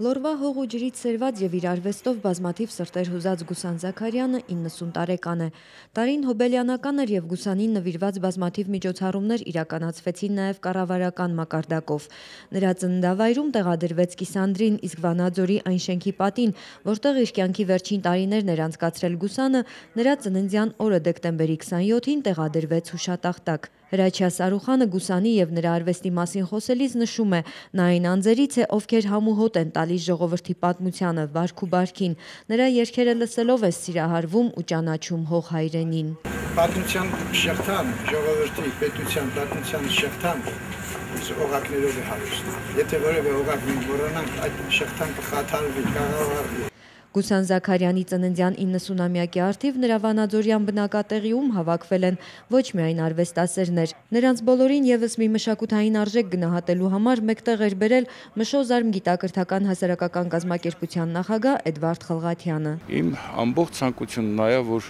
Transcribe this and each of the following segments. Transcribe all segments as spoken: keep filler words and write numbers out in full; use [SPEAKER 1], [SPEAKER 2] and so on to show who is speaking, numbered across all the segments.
[SPEAKER 1] Լորվա հող ու ջրից սերված եւ իր արվեստով բազմաթիվ սրտեր հուզած Գուսան Զաքարյանը իննսուն տարեկան է։ Տարին հոբելյանական էր եւ Գուսանին նվիրված բազմաթիվ միջոցառումներ իրականացվեցին նաեւ կառավարական մակարդակով։ Նրա ծննդավայրում տեղադրվեց կիսանդրին, իսկ Վանաձորի այն շենքի պատին, որտեղ իր կյանքի վերջին տարիներն էր անցկացրել Գուսանը, նրա ծննդյան օրը դեկտեմբերի քսանյոթին տեղադրվեց հուշատախտակ։ Հրաչյա Սարուխանը Գուսանի եւ նրա արվեստի մասին խոսելիս նշում է, նա այն անձերից է, ովքեր համուհոտ են տալիս ժողովրդի պատմությանը, վարք ու բարքին։ Նրա երգերը լսելով է սիրահարվում ու ճանաչում հող հայրենին։
[SPEAKER 2] Պատմության շղթան, ժողովրդի պետության պատմության շղթան օղակներով է հարուստ։ Եթե որևէ օղակ մոռանանք, այդ շղթան կխաթարվի, կաղավարվի։
[SPEAKER 1] Գուսան Զաքարյանի ծննդյան իննսունամյակի առթիվ նրա վանաձորյան բնակատեղիում հավաքվել են ոչ միայն արվեստասերներ, նրանց բոլորին եւս մի մշակութային արժեք գնահատելու համար մեկտեղ էր բերել Մշոզարմ գիտակրթական հասարակական կազմակերպության նախագահ Էդվարդ Խլղաթյանը։
[SPEAKER 3] Իմ ամբողջ ցանկությունն նա է, որ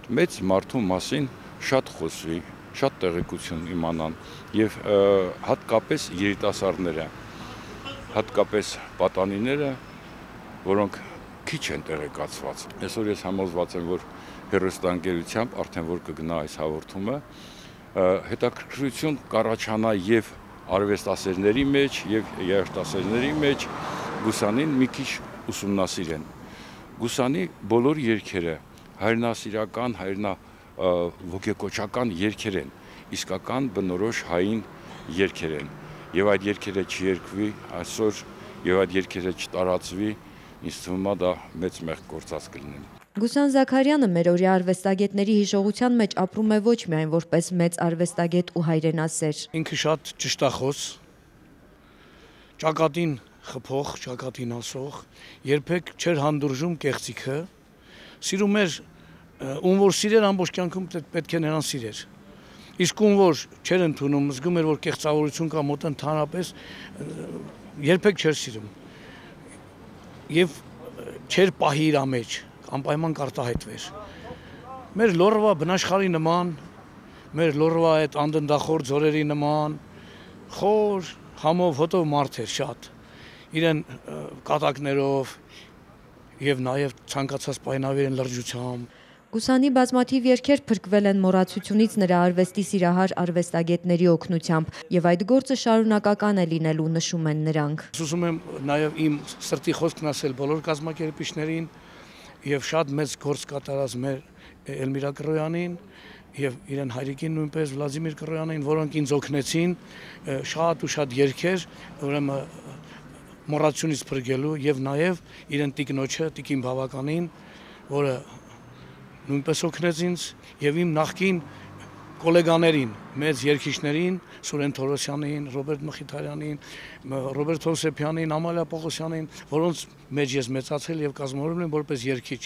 [SPEAKER 3] այդ մեծ մարդու մասին շատ խոսվի, շատ տեղեկություն իմանան եւ հատկապես երիտասարդները, հատկապես պատանիները, որոնք քիչ են տեղեկացված։ Այսօր ես համոզված եմ, որ հեռուստաընկերությամբ արդեն որ կգնա այս հաղորդումը, հետաքրքրություն կառաջանա եւ արվեստասերների մեջ եւ երաժշտասերների մեջ Գուսանին մի քիչ ուսումնասիրեն։ Գուսանի բոլոր երգերը հայրենասիրական, հայրենա ոգեկոչական երգեր են, իսկական բնորոշ հային երգեր են։ Եվ այդ երգերը չերկվի այսօր եւ այդ երգերը չտարածվի, ինձ թվում է դա մեծ մեղք գործած կլինի։
[SPEAKER 1] Գուսան Զաքարյանը մերօրյա արվեստագետների հիշողության մեջ ապրում է ոչ միայն որպես մեծ արվեստագետ ու հայրենասեր։
[SPEAKER 4] Ինքը շատ ճշտախոս, ճակատին խփող, ճակատին ասող, երբեք չէր հանդուրժում կեղծիքը, սիրում էր ում որ սիրեր ամբողջ կյանքում պետք է նրան սիրեր։ Իսկ ում որ չէր ընդունում, զգում էր որ կեղծավորություն կա մոտ ընդհանրապես, երբեք չէր սիրում։ Եվ չեր պահի իր մեջ, անպայման կարտահայտվեր։ Մեր լորվա բնաշխարհի նման, մեր լորվա այդ անդնդախոր ձորերի նման, խոր, համով, հոտով մարդ էր շատ, իրեն կատակներով եւ նաեւ ցանկացած պայմանավիրեն լրջությամբ։
[SPEAKER 1] Գուսանի բազմաթիվ երգեր փրկվել են մոռացությունից նրա արվեստի սիրահար արվեստագետների օգնությամբ, եւ այդ գործը շարունակական է լինելու, նշում են նրանք։
[SPEAKER 4] Ուզում եմ նաեւ իմ սրտի խոսքն ասել բոլոր կազմակերպիչներին եւ շատ մեծ գործ կատարած մեր Էլմիրա Կռոյանին եւ իրեն հայրիկին նույնպես Վլադիմիր Կռոյանին, որոնք ինձ օգնեցին շատ ու շատ երգեր, ուրեմն մոռացությունից փրկելու եւ նաեւ իրեն տիկնոջը, տիկին բավականին, որը նույնպես օգնեց ինձ եւ իմ նախկին կոլեգաներին, մեծ երգիչներին, Սուրեն Թորոսյանին, Ռոբերտ Մխիթարյանին, Ռոբերտ Հովսեփյանին, Ամալիա Պողոսյանին, որոնց մեջ ես մեծացել եւ կազմավորվել եմ որպես երգիչ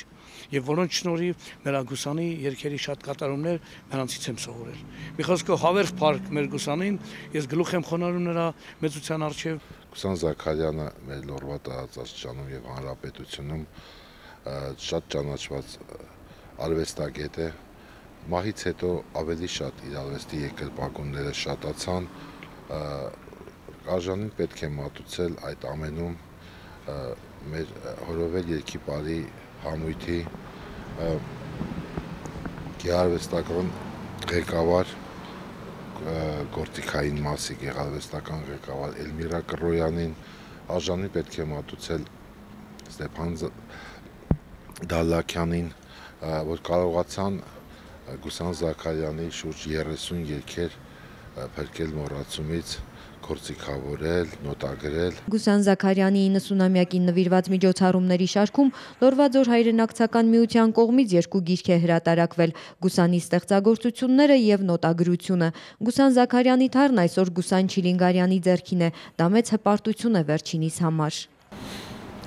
[SPEAKER 4] եւ որոնց շնորհիվ նրա Գուսանի երգերի շատ կատարումներ նրանցից եմ սովորել։ Մի խոսքով հավերժ փառք մեր Գուսանին, ես գլուխ եմ խոնարհում նրա մեծության առջեւ։
[SPEAKER 5] Գուսան Զաքարյանը մեր լորվա տարածաշրջանում եւ հանրապետությունում շատ ճանաչված արվեստագետ է, մահից հետո ավելի շատ իր արվեստի երկրպագունները շատացան, արժանին պետք է մատուցել այդ ամենում մեր հորովել երգի բարի համույթի գեղարվեստական ղեկավար, գործիքային մասի գեղարվեստական ղեկավար Էլմիրա Կռոյանին, արժանին պետք է մատուցել Ստեփան Դալլաքյանին, որ կարողացան Գուսան Զաքարյանի շուրջ երեսուն երգեր փրկել մոռացումից, գործիքավորել, նոտագրել։
[SPEAKER 1] Գուսան Զաքարյանի իննսունամյակին նվիրված միջոցառումների շարքում Լորվա ձոր հայրենակցական միության կողմից երկու գիրք է հրատարակվել՝ Գուսանի ստեղծագործությունները եւ նոտագրությունը։ Գուսան Զաքարյանի թառն այսօր Գուսան Չիլինգարյանի ձեռքին է, դա մեծ հպարտություն է վերջինիս համար։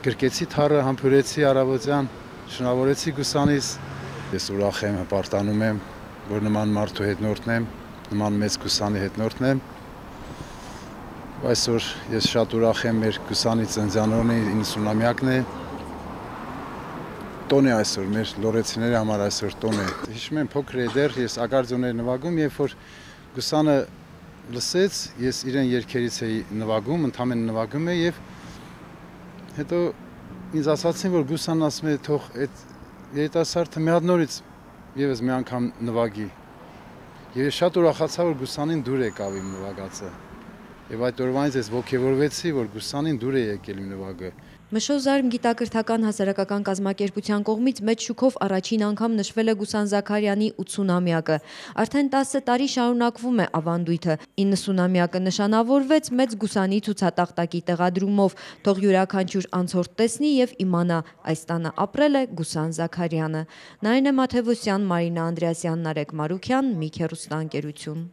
[SPEAKER 6] Գրկեցի թառը, համբուրեցի առավոտյան, շնորհավորեցի Գուսանից։ Ես ուրախ եմ, հպարտանում եմ, որ նման մարդու հետնորդն եմ, նման մեծ Գուսանի հետնորդն եմ։ Այսօր ես շատ ուրախ եմ, մեր Գուսանի ծննդյանօրն է, իննսունամյակն է։ Տոն է այսօր, մեր լորեցիների համար այսօր տոն է։ Հիշում եմ փոքր է դեռ, ես ակարդեոն էի նվագում, երբ որ Գուսանը լսեց, ես իրեն երգերից էի նվագում, ընդհանրապես նվագում էի եւ Հետո ինձ ասացին, որ Գուսանն ասում է, թող այդ երիտասարդը մի հատ նորից եւս մի անգամ նվագի։ Եվ շատ ուրախացա, որ Գուսանին դուր եկավ իմ նվագածը։ Եվ այդ օրվանից ես ոգևորվեցի, որ Գուսանին դուր է եկել իմ նվագը։
[SPEAKER 1] Մշո Զարմ գիտակրթական հասարակական կազմակերպության կողմից մեծ շուքով առաջին անգամ նշվել է Գուսան Զաքարյանի ութսունամյակը։ Արդեն տասը տարի շարունակվում է ավանդույթը։ իննսունամյակը նշանավորվեց մեծ Գուսանի ցուցատախտակի տեղադրումով, թող յուրաքանչյուր անցորդ տեսնի եւ իմանա, այս տանը ապրել է Գուսան Զաքարյանը։ Նարինե Մաթևոսյան, Մարինա Անդրեասյան, Նարեկ Մարուքյան, Միք հեռուստաընկերություն։